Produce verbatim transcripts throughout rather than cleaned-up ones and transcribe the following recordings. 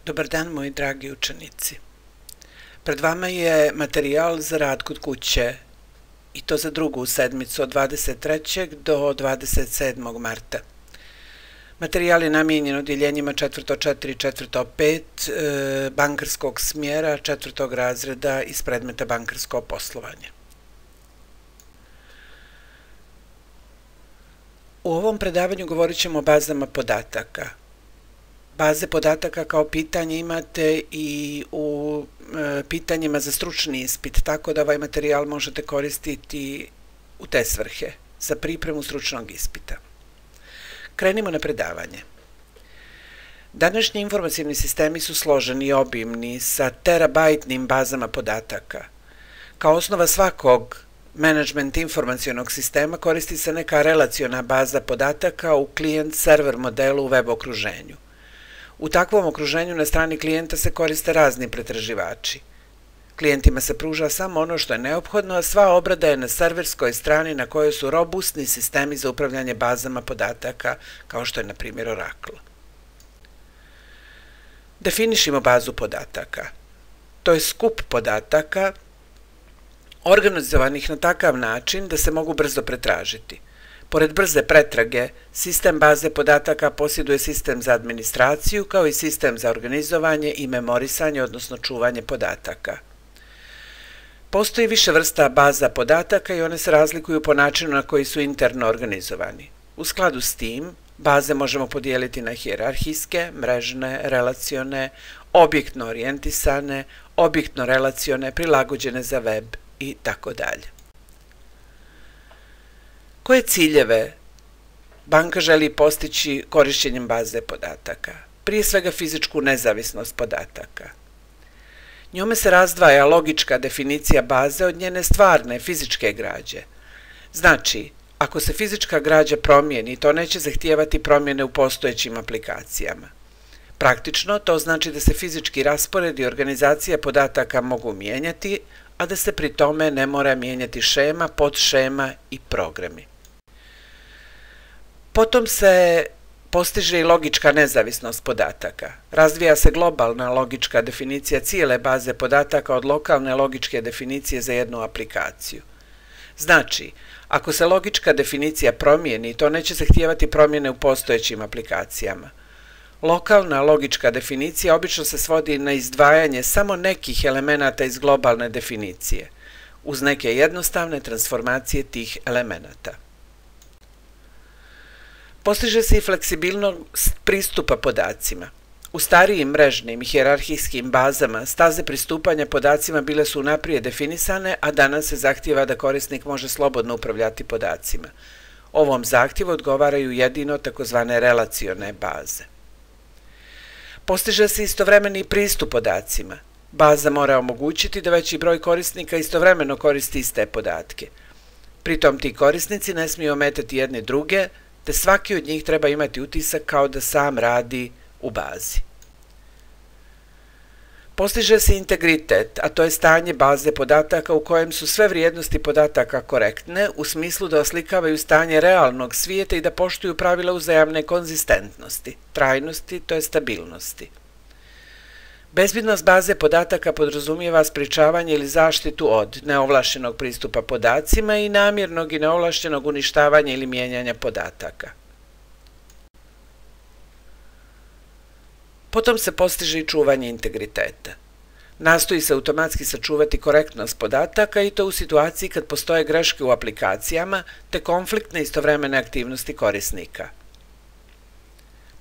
Dobar dan, moji dragi učenici. Pred vama je materijal za rad kod kuće i to za drugu sedmicu od dvadeset trećeg do dvadeset sedmog marta. Materijal je namijenjen odjeljenjima četvrto četiri i četvrto pet bankarskog smjera četvrtog razreda iz predmeta bankarsko poslovanje. U ovom predavanju govorit ćemo o bazama podataka. Baze podataka kao pitanje imate i u e, pitanjima za stručni ispit, tako da ovaj materijal možete koristiti u te svrhe, za pripremu stručnog ispita. Krenimo na predavanje. Današnji informacijni sistemi su složeni i obimni sa terabajtnim bazama podataka. Kao osnova svakog menadžment informacionog sistema koristi se neka relaciona baza podataka u klijent-server modelu u web okruženju. U takvom okruženju na strani klijenta se koriste razni pretraživači. Klijentima se pruža samo ono što je neophodno, a sva obrada je na serverskoj strani na kojoj su robustni sistemi za upravljanje bazama podataka, kao što je na primjer Oracle. Definišimo bazu podataka. To je skup podataka organizovanih na takav način da se mogu brzo pretražiti. Pored brze pretrage, sistem baze podataka posjeduje sistem za administraciju kao i sistem za organizovanje i memorisanje, odnosno čuvanje podataka. Postoji više vrsta baza podataka i one se razlikuju po načinu na koji su interno organizovani. U skladu s tim, baze možemo podijeliti na hijerarhijske, mrežne, relacione, objektno orijentisane, objektno relacione, prilagođene za web i tako dalje. Koje ciljeve banka želi postići korišćenjem baze podataka? Prije svega fizičku nezavisnost podataka. Njome se razdvaja logička definicija baze od njene stvarne fizičke građe. Znači, ako se fizička građa promijeni, to neće zahtijevati promjene u postojećim aplikacijama. Praktično, to znači da se fizički raspored i organizacija podataka mogu mijenjati, a da se pri tome ne mora mijenjati šema, podšema i programi. Potom se postiže i logička nezavisnost podataka. Razvija se globalna logička definicija cijele baze podataka od lokalne logičke definicije za jednu aplikaciju. Znači, ako se logička definicija promijeni, to neće zahtijevati promjene u postojećim aplikacijama. Lokalna logička definicija obično se svodi na izdvajanje samo nekih elemenata iz globalne definicije, uz neke jednostavne transformacije tih elemenata. Postiže se i fleksibilnost pristupa podacima. U starijim mrežnim i hijerarhijskim bazama staze pristupanja podacima bile su unaprijed definisane, a danas se zahtijeva da korisnik može slobodno upravljati podacima. Ovom zahtjevu odgovaraju jedino takozvane relacione baze. Postiže se istovremeni pristup podacima. Baza mora omogućiti da veći broj korisnika istovremeno koristi iste podatke. Pritom ti korisnici ne smiju ometati jedne druge, te svaki od njih treba imati utisak kao da sam radi u bazi. Postiže se integritet, a to je stanje baze podataka u kojem su sve vrijednosti podataka korektne, u smislu da oslikavaju stanje realnog svijeta i da poštuju pravila uzajamne konzistentnosti, trajnosti, to je stabilnosti. Bezbednost baze podataka podrazumijeva sprječavanje ili zaštitu od neovlaštenog pristupa podacima i namjernog i neovlaštenog uništavanja ili mijenjanja podataka. Potom se postiže i čuvanje integriteta. Nastoji se automatski sačuvati korektnost podataka i to u situaciji kad postoje greške u aplikacijama te konfliktne istovremene aktivnosti korisnika.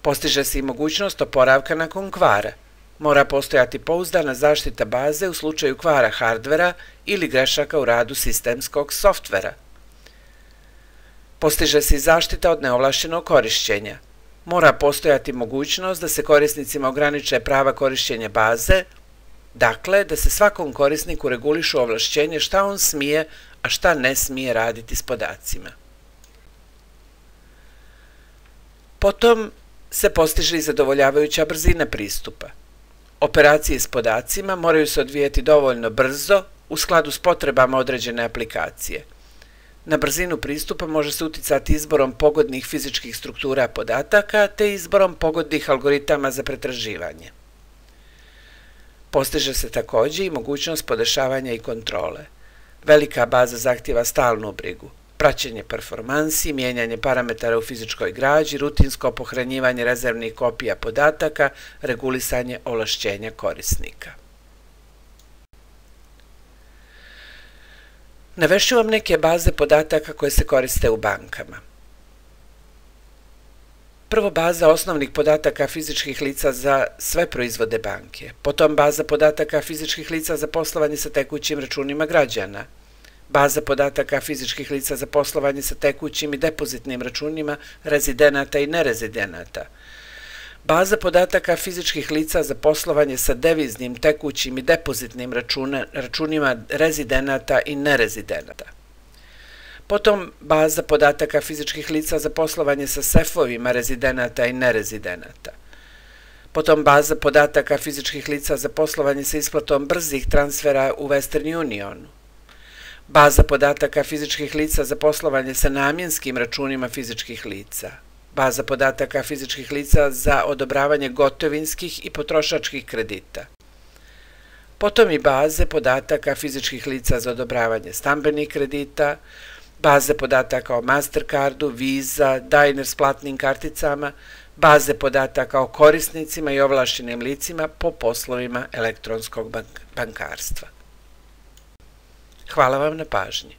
Postiže se i mogućnost oporavka nakon kvara. Mora postojati pouzdana zaštita baze u slučaju kvara hardvera ili grešaka u radu sistemskog softvera. Postiže se i zaštita od neovlaštenog korišćenja. Mora postojati mogućnost da se korisnicima ograniče prava korišćenja baze, dakle da se svakom korisniku regulišu ovlašćenje šta on smije, a šta ne smije raditi s podacima. Potom se postiže i zadovoljavajuća brzina pristupa. Operacije s podacima moraju se odvijati dovoljno brzo u skladu s potrebama određene aplikacije. Na brzinu pristupa može se uticati izborom pogodnih fizičkih struktura podataka te izborom pogodnih algoritama za pretraživanje. Postiže se također i mogućnost podešavanja i kontrole. Velika baza zahtjeva stalnu brigu, praćenje performansi, mijenjanje parametara u fizičkoj građi, rutinsko pohranjivanje rezervnih kopija podataka, regulisanje ovlašćenja korisnika. Navešću vam neke baze podataka koje se koriste u bankama. Prvo, baza osnovnih podataka fizičkih lica za sve proizvode banke, potom baza podataka fizičkih lica za poslovanje sa tekućim računima građana, baza podataka fizičkih lica za poslovanje sa tekućim i depozitnim računima rezidenata i nerezidenata, baza podataka fizičkih lica za poslovanje sa deviznim, tekućim i depozitnim računima rezidenata i nerezidenata. Potom baza podataka fizičkih lica za poslovanje sa sefovima rezidenata i nerezidenata. Potom baza podataka fizičkih lica za poslovanje sa isplatom brzih transfera u Western Unionu. Baza podataka fizičkih lica za poslovanje sa namjenskim računima fizičkih lica. Baza podataka fizičkih lica za odobravanje gotovinskih i potrošačkih kredita. Potom i baze podataka fizičkih lica za odobravanje stambenih kredita, baze podataka o Mastercardu, Visa, Diners platnim karticama, baze podataka o korisnicima i ovlašćenim licima po poslovima elektronskog bankarstva. Hvala vam na pažnji.